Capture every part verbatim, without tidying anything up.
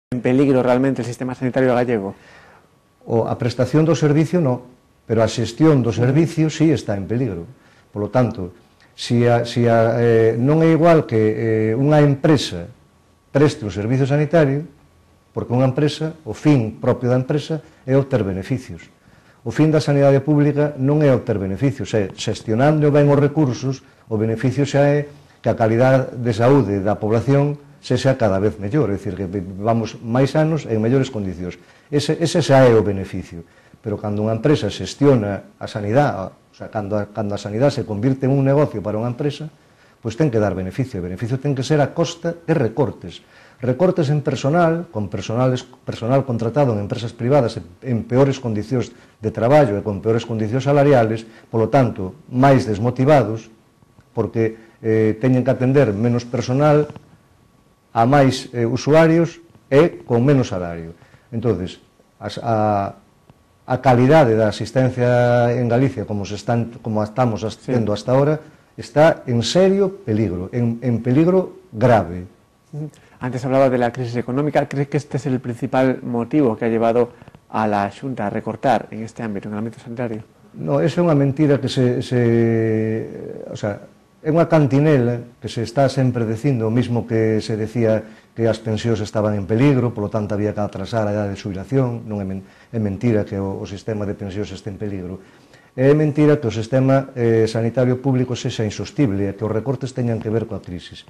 en peligro realmente el sistema sanitario gallego? O a prestación do servicio non, pero a xestión do servicio sí está en peligro. Por lo tanto, si a, si a, eh, non é igual que eh, unha empresa preste o servicio sanitario, porque unha empresa, o fin propio da empresa é obter beneficios. O fin da sanidade pública non é obter beneficios, é xestionando ben os recursos, o beneficio xa é que a calidade de saúde da población sexa cada vez mellor, é dicir, que vamos máis anos en mellores condicións. Ese, ese xa é o beneficio. Pero cando unha empresa xestiona a sanidade, o sea, cando a, cando a sanidade se convirte en un negocio para unha empresa, pois ten que dar beneficio. O beneficio ten que ser a costa de recortes. Recortes en personal, con personal, personal contratado en empresas privadas en peores condicións de traballo e con peores condicións salariales, polo tanto, máis desmotivados, porque eh, teñen que atender menos personal a máis eh, usuarios e con menos salario. Entonces, as, a, a calidade da asistencia en Galicia, como, se están, como estamos asistiendo sí. hasta ahora, está en serio peligro, en, en peligro grave. Antes hablaba de la crisis económica. ¿Cree que este es el principal motivo que ha llevado a la Xunta a recortar en este ámbito, en el ámbito sanitario? No, esa é unha mentira que se... se o sea, é unha cantinela que se está sempre dicindo, o mismo que se decía que as pensións estaban en peligro, polo tanto había que atrasar a idade de xubilación. Non é, men é mentira que o, o sistema de pensións este en peligro. É mentira que o sistema eh, sanitario público sexa insostible e que os recortes teñan que ver coa crisis.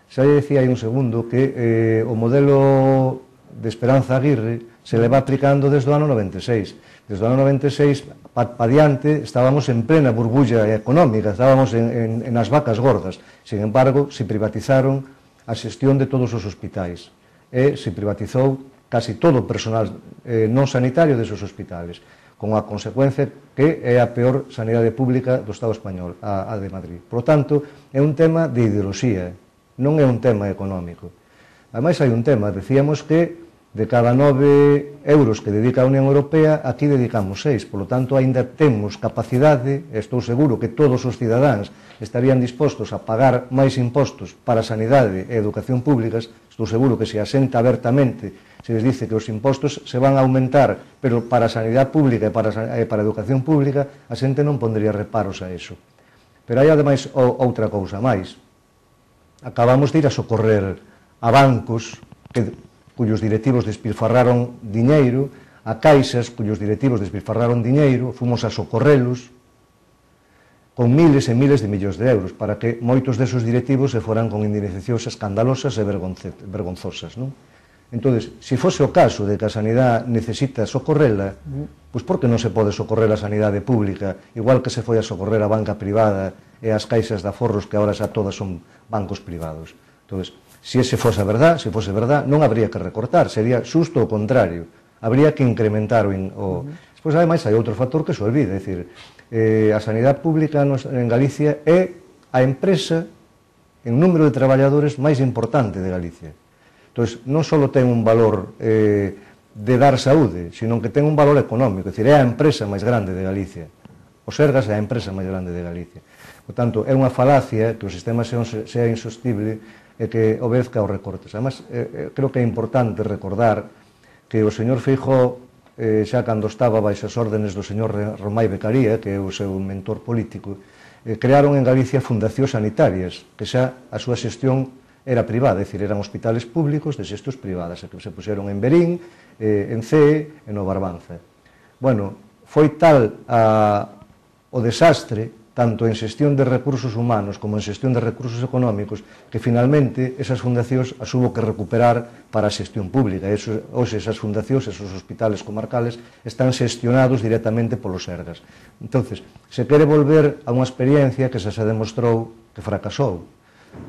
Xa lle decía aí un segundo que eh, o modelo de Esperanza Aguirre se leva aplicando desde o ano noventa e seis. Desde o ano noventa e seis, pa, pa diante, estábamos en plena burbulla económica, estábamos en, en, en as vacas gordas. Sin embargo, se privatizaron a xestión de todos os hospitais e se privatizou casi todo o personal eh, non sanitario desos hospitales, con a consecuencia que é a peor sanidade pública do Estado español, a, a de Madrid. Por lo tanto, é un tema de ideoloxía, non é un tema económico. Ademais, hai un tema, decíamos que de cada nove euros que dedica a Unión Europea, aquí dedicamos seis. Por lo tanto, ainda temos capacidade, estou seguro que todos os cidadáns estarían dispostos a pagar máis impostos para a sanidade e educación públicas. Estou seguro que se asenta abertamente, se les dice que os impostos se van a aumentar, pero para a sanidade pública e para a, e para a educación pública, a xente non pondría reparos a eso. Pero hai, ademais, outra cousa máis. Acabamos de ir a socorrer a bancos que, cuyos directivos despilfarraron diñeiro, a caixas cuyos directivos despilfarraron diñeiro, fomos a socorrelos con miles e miles de millóns de euros para que moitos desos directivos se foran con indemnizacións escandalosas e vergonzosas, non? Entón, se fose o caso de que a sanidade necesita socorrela, pois por que non se pode socorrer a sanidade pública, igual que se foi a socorrer a banca privada e as caixas de aforros que agora xa todas son bancos privados? Entón, se ese fose a verdad, se fose verdad, non habría que recortar, sería xusto o contrario, habría que incrementar o... o... Despois, ademais, hai outro factor que se olvida, é dicir, eh, a sanidade pública en Galicia é a empresa en número de traballadores máis importante de Galicia. Entón, non só ten un valor eh, de dar saúde, sino que ten un valor económico, é dicir, é a empresa máis grande de Galicia. O Sergas é a empresa máis grande de Galicia. Por tanto, é unha falacia que o sistema sea insostible e que obedezca aos recortes. Además, eh, creo que é importante recordar que o señor Feijóo, eh, xa cando estaba baixo as órdenes do señor Romai Becaría, que é o seu mentor político, eh, crearon en Galicia fundacións sanitarias, que xa a súa xestión era privada, é dicir, eran hospitales públicos de xestos privadas, que se puxeron en Berín, eh, en Cee e no Barbanza. Bueno, foi tal a, o desastre, tanto en xestión de recursos humanos como en xestión de recursos económicos, que finalmente esas fundacións as hubo que recuperar para a xestión pública. Eso, hoxe esas fundacións, esos hospitales comarcales, están xestionados directamente polos Sergas. Entonces, se quere volver a unha experiencia que xa se demostrou que fracasou.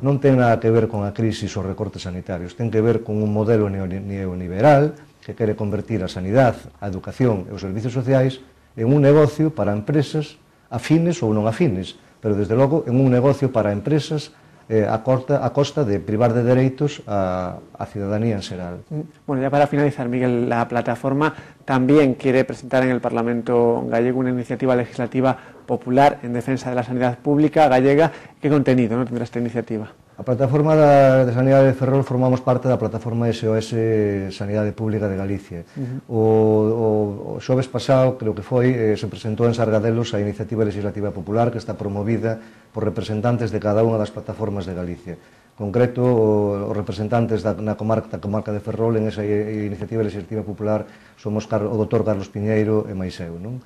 Non ten nada que ver con a crisis ou recortes sanitarios, ten que ver con un modelo neoliberal que quere convertir a sanidade, a educación e os servicios sociais en un negocio para empresas afines ou non afines, pero desde logo en un negocio para empresas eh, a, corta, a costa de privar de dereitos a, a ciudadanía en xeral. Bueno, ya para finalizar, Miguel, la plataforma también quiere presentar en el Parlamento gallego una iniciativa legislativa popular en defensa de la sanidad pública gallega. ¿Qué contenido no tendrá esta iniciativa? A plataforma da, de Sanidade de Ferrol formamos parte da plataforma S O S Sanidade Pública de Galicia. Uh-huh. o, o, o xoves pasado, creo que foi, eh, se presentou en Sargadelos a Iniciativa Legislativa Popular que está promovida por representantes de cada unha das plataformas de Galicia. En concreto, os representantes da, na comarca, da comarca de Ferrol en esa Iniciativa Legislativa Popular somos o doutor Carlos Piñeiro e máis eu, non?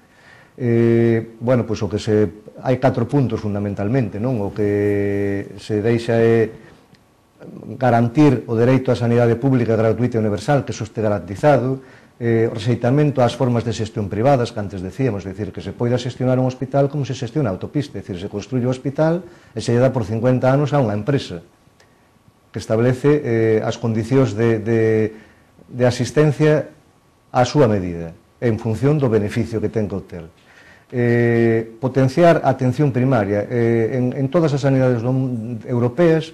Eh, bueno, pois o que se hai catro puntos fundamentalmente, non? O que se deixa é garantir o dereito á sanidade pública gratuita e universal, que iso este garantizado, eh, o rexeitamento ás formas de xestión privadas que antes decíamos, é dicir, que se poida xestionar un hospital como se xestiona a autopista, é dicir, se construye o hospital e se lle dá por cincuenta anos a unha empresa que establece eh, as condicións de, de, de asistencia á súa medida, en función do beneficio que ten que obter. Eh, potenciar a atención primaria. Eh, en, en todas as sanidades europeas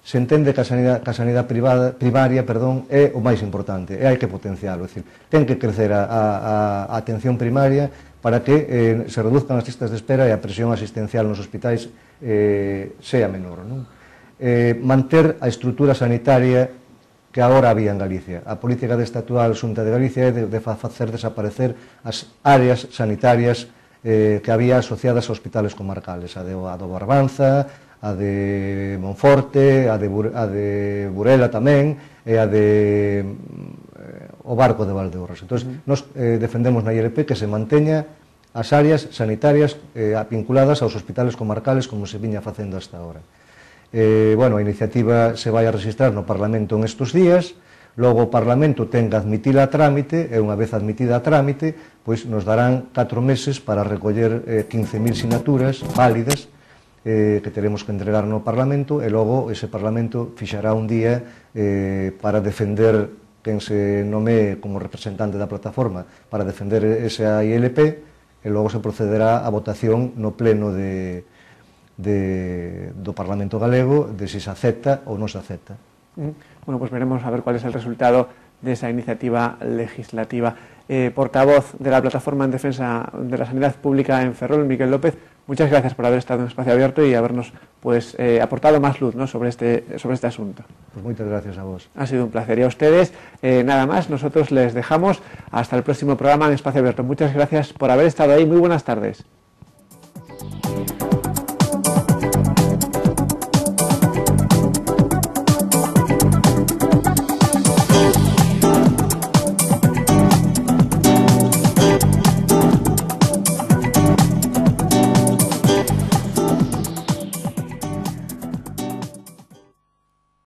se entende que a sanidade, que a sanidade privada, primaria perdón, é o máis importante, e hai que potenciarlo. É dicir, ten que crecer a, a, a atención primaria para que eh, se reduzcan as listas de espera e a presión asistencial nos hospitais eh, sea menor, non? Eh, manter a estrutura sanitaria que agora había en Galicia. A política desta actual Xunta de Galicia é de, de facer desaparecer as áreas sanitarias eh, que había asociadas a hospitales comarcales, a, de, a do Barbanza, a de Monforte, a de, a de Burela tamén, e a de eh, o Barco de Valdeorras. Entón, uh-huh. nos eh, defendemos na I L P que se manteña as áreas sanitarias eh, vinculadas aos hospitales comarcales como se viña facendo hasta ahora. Eh, bueno, a iniciativa se vai a registrar no Parlamento en estes días, logo o Parlamento ten que admitila a trámite, e unha vez admitida a trámite, pois nos darán catro meses para recoller eh, quince mil sinaturas válidas eh, que teremos que entregar no Parlamento, e logo ese Parlamento fixará un día eh, para defender quen se nomee como representante da plataforma para defender esa I L P, e logo se procederá a votación no pleno de, de, do Parlamento Galego de se se acepta ou non se acepta. Bueno, pues veremos a ver cuál es el resultado de esa iniciativa legislativa. Eh, portavoz de la Plataforma en Defensa de la Sanidad Pública en Ferrol, Miquel López, muchas gracias por haber estado en Espacio Abierto y habernos pues, eh, aportado más luz, ¿no?, sobre, este, sobre este asunto. Pues muchas gracias a vos. Ha sido un placer. Y a ustedes, eh, nada más, nosotros les dejamos hasta el próximo programa en Espacio Abierto. Muchas gracias por haber estado ahí. Muy buenas tardes.